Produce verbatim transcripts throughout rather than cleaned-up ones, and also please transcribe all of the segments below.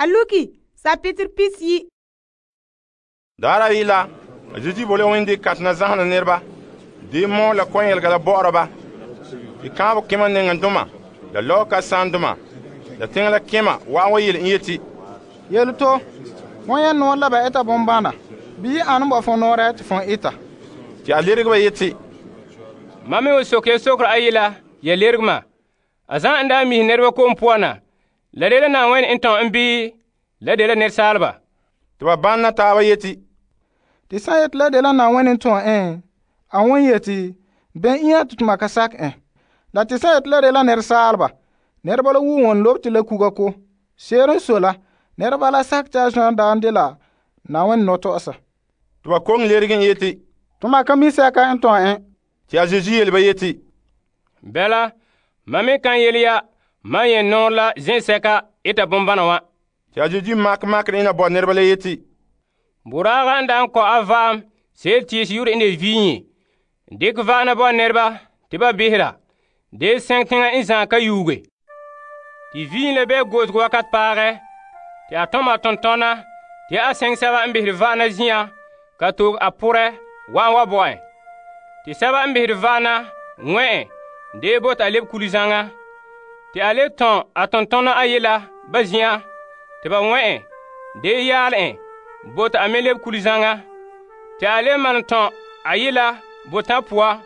A luki sapitr pisiyi. Daara yi la, Zesu bole wende katena zahana nɛreba, de mɔ la kɔnyɛlega la bɔ'ɔra ba. Te kaanbɛ kema nɛŋandoma, la lɔɔka saandoma, la teŋa la kema wa'an wa yele en yeti, Yele to, fon ya nɔɔre la ba eta bombana, bii ane ba fon nɔɔrɛ te fon eta? Te a lerege ba yeti, Mam me wa soke ya sokera ayi la, ya lerege ma. A zan n daa mihe nɛreba ko'om poan na, la dela Na'ayenɛ n tɔn en bii la dela nɛresaaleba? te ba banna taaba yeti, Te san yeti la dela Na'ayenɛ n tɔn en, a won yeti, bɛn iŋa te toma ka sakɛ en. La te san yeti la dela nɛresaaleba, nɛreba la wuo wɔn lobe te la kuga ko. Se'ere n sɔe la, nɛreba la sakɛ te a zɔn daan dela Na'ayenɛ nɔtɔ'ɔsa. te ba koŋe lerege en yeti, Toma ka mi sɛka n tɔn en. te a Zesu yele ba yeti, Bɛla, mam me kan yele ya mam yɛn nɔɔrɛ la zen'sɛka eta bombana wa. te a Zesu makɛ makere ena bo nɛreba la yeti, Boraaga n daan kɔ a vaam se'ere tiisi yore n de viiŋe, dikɛ va'ana bo nɛreba te ba behera, de sɛŋ teŋa n zaan ka yuuge. Te viiŋe la bɛ goosego wakat paagɛ, te a tom a tontɔna te a sɛŋ sɛba n behere va'ana zin'an ka toog a porɛ wa'an wa bo en. Te sɛba n behere va'ana ŋmɛ' en de bota a lebe kule zaŋa. Te a le tɔn a tontɔna ayela ba zin'an te ba ŋmɛ' en de yaale en bota a me lebe kule zaŋa. Te a le malom tɔn ayela botan poa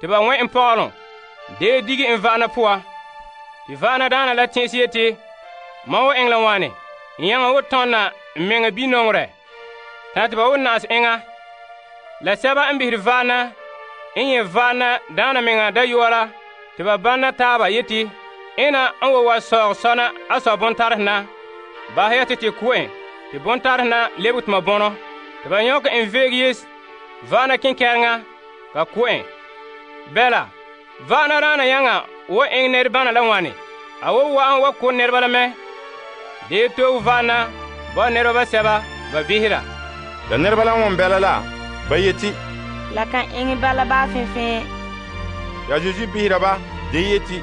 te ba ŋmɛ' en pɔgɔlom de dige en va'ana poa. Te va'ana daana la tɛn'ɛse yeti, mam wa eŋɛ la wane, n yaŋa wo tɔnna n meŋa binɔŋerɛ, ta te ba wo na'asɛ enŋa. La sɛba n behere va'ana n nyɛ va'ana daana meŋa dayɔa la te ba banna taaba yeti, ena n wa wa sɔɔg sɔna a sɔ bontarehe na, bahɛ ya te te ko' en te bontarehe na lebege toma bɔnɔ. Te ba nyɔkɛ en veege yes va'ana kenkɛreŋa ka ko' en. Bɛla, va'ana daana yaŋa wo eŋɛ nɛrebana la wane, a wo wa'an wa ko' nɛreba la mɛ, de to'e va'ana bo nɛreba basɛba ba behera. la nɛreba la ŋun bɛla la, ba yeti, La kan eŋɛ bala baa fẽfẽ. te a Zesu behera ba, de yeti,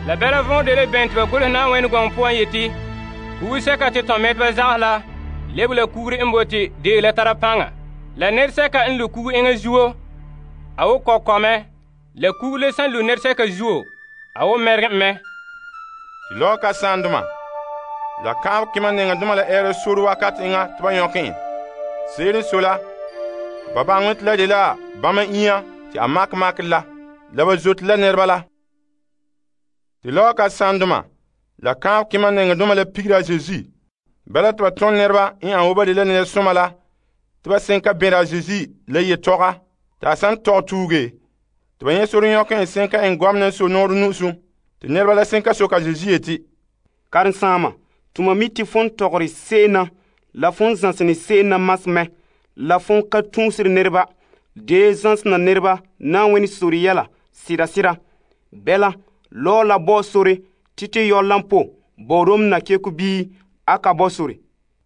La bɛla vɔn de le bɛn te ba golehɛ Na'ayenɛ gɔŋɔ poan yeti, kugu sɛka te tɔn mɛteba zagahɛ la lebe la kugure n bote dee la tara paŋa. La nɛresɛka n lu kugu eŋa zuo, a wo kɔkɔmɛ. La kugu le san lu nɛresɛka zuo, a wo mɛregɛ mɛ. te lɔɔka saandoma, la kaanbɛ kema nɛŋandoma la ɛɛra sore wakat eŋa te ba nyɔkɛ en. Se'ere n sɔe la, ba baŋɛ te la de la bãmba inya te a makɛ makere la, la ba zote la nɛreba la. Te lɔɔka saandoma, la kaanbɛ kema nɛŋandoma la pigera a Zesu. Bala te ba tõnd nɛreba n an wo ba de la nɛresoma la, te ba sẽn ka bẽra a Zesu la yetɔga, te a san tɔg tuuge, te ba nyɛ sore nyɔkɛ en sẽn ka eŋ gɔmena n so noore nu'usum. Te nɛreba la sẽn ka soka a Zesu yeti, Karen-saama, tuma mi te fon tɔgere se'em na la fon zãsene se'em na mas mɛ, la fon ka tũusere nɛreba, dee zãsena nɛreba Na'ayenɛ sore yɛla sɩda sɩda. Bɛla, lɔɔ la bɔ sore tɩ tɩ yɔ lampo bɔɔrom nakeko bii a ka bɔ sore.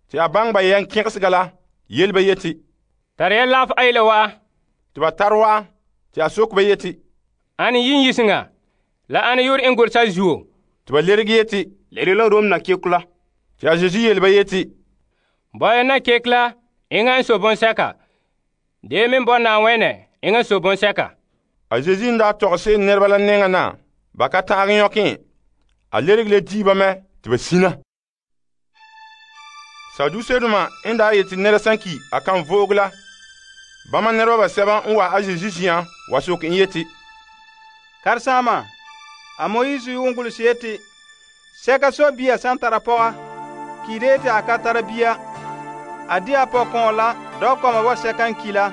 te a baŋ ba yɛn kẽgesga la, yel ba yeti, Tare ya laaf ayila wa'a. te ba tar wa'a, te a sok ba yeti, Ane yin yiseŋa, la ane yor en golsa zuo. te ba lerege yeti, Lere la Rom nakeko la. te a Zesu yel ba yeti, Bɔya na kek la eŋa n so bonsɛka, dee me bɔ Na'ayenɛ eŋa n so bonsɛka. a Zesu n daa tɔgse nɛreba la nɛŋa na, ba ka tãag yõkẽ, a lerege le dii ba mɛ tɩ ba sina. Saduseedoma n daa yetɩ nɛra sã n ki a kan voog la, bãmba nɛreba basɛba n wa a Zesu zin'an wa sok n yeti, Karen-saama, a Moyiis yuun gʋlsɛ yeti, sɛka so bia sã n tara pɔga, kiide yeti a ka tara bia, a di a pɔgkɔɔ la dɔgkɔma wa sɛka n ki la,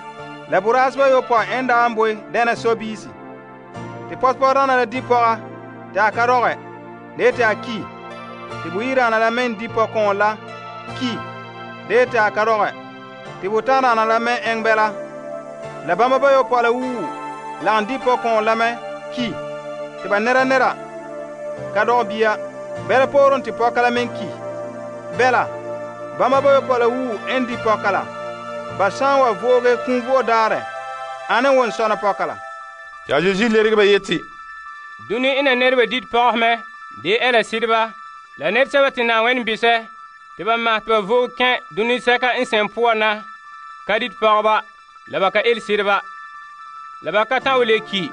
la boraaseba yopɔi n daa n boe dɛna so-biisi. Tɩ pɔsepɔgdaana la di pɔga tɩ a ka rɔgɛ, la yeti a ki, tɩ boyiraana la me n di pɔgkɔɔ la ki, la yeti a ka rɔgɛ, tɩ botãadaana la me eŋ bɛla, la bãmba bayopɔi la wuu lagem di pɔgkɔɔ la me ki, tɩ ba nɛra nɛra ka dɔg bia, bɛla pooren tɩ pɔka la me n ki. Bɛla, bãmba bayopɔi la wuu n di pɔka la, ba sã n wa vooge kũu vo'o daarɛ, ane won sɔna pɔka la. tɩ a Zesu lerge ba yeti, Dũni ina nɛreba dit pɔgɔsmɛ, dee ɛla sɩdba, la nɛresɛba tɩ Na'ayenɛ bisɛ te ba mahɛ te ba vo'e kɛn' dunisɛka n sɛn poan na ka dite pɔgɔba la ba ka ele sereba. La ba ka ta'an le ki.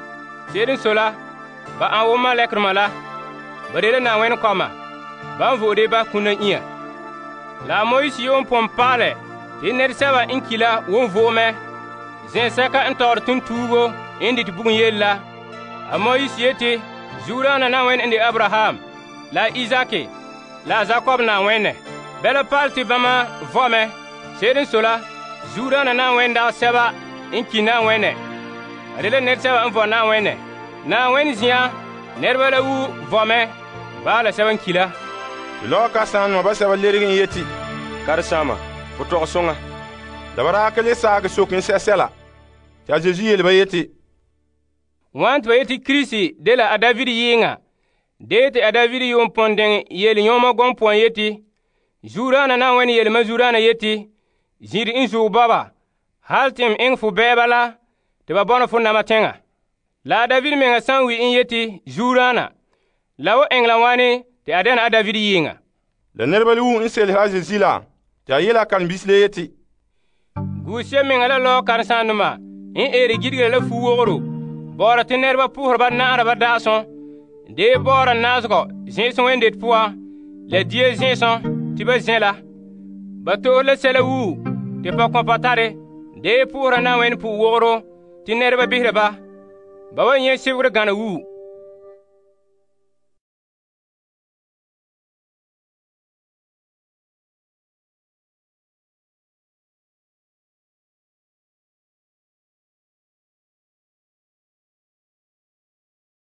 Se'ere n sɔe la, ba an wo malɛkerdoma la. Ba dela Na'ayenɛ kɔma. Ba n vo'ode ba kum la inya. La Moise yuun pon pa'alɛ te nɛresɛba n ki la won vo'e mɛ zen'sɛka n tɔgɔre tontuugo n dite bugum yele la. A Moise yeti zuodaana Na'ayenɛ n de Abraham, la Izaki, la Jakob Na'ayenɛ. Bɛla pa'alɛ te bama vɔ mɛ. Se'ere n sɔe la, zuodaana Na'ayenɛ dagɛ sɛba n ki Na'ayenɛ. A dela nɛresɛba n vɔ Na'ayenɛ. Na'ayenɛ zin'an, nɛreba la wu vɔ mɛ baa la sɛba n ki la. Te lɔɔ kasaandoma basɛba lerege n yeti, Karesaama, fo tɔgɛ soŋa. la ba daa ka le saage soke n sɛsɛla. Te a Zesu yele ba yeti, Wan te ba yeti Kirisi dela a David yɩɩŋa, dee te a David yuun pon deŋe yele yõoma gɔŋ poan yeti, zuodaana Na'ayenɛ yelema zuodaana yeti, zin'ire n zuo bɔba, hal te n eŋɛ fo bɛɛba la te ba bɔna fo nama teŋa. La a David meŋa san wi n yeti zuodaana, la wo eŋɛ la wane te a dɛna a David yɩɩŋa. la nɛreba lewu n selehe a Zezu la, te a yele a karen-biisi le yeti, Guuseɛ meŋa la lɔɔ karesaandoma n eere gidigera la fu-wogoro, bɔɔra te nɛreba po'ohera ba na'ara ba da'asɔ, dee bɔɔra naazegɔ zẽ'esẽ wendete poan, la dia zẽ'esɔ te ba zẽ la. Ba to'ohe la sɛla wuu te pɔkɔnpɔ tare, dee po'ohera Na'ayenɛ pu-wogoro te nɛreba behera ba. Ba wa nyɛ sebegere gana wuu.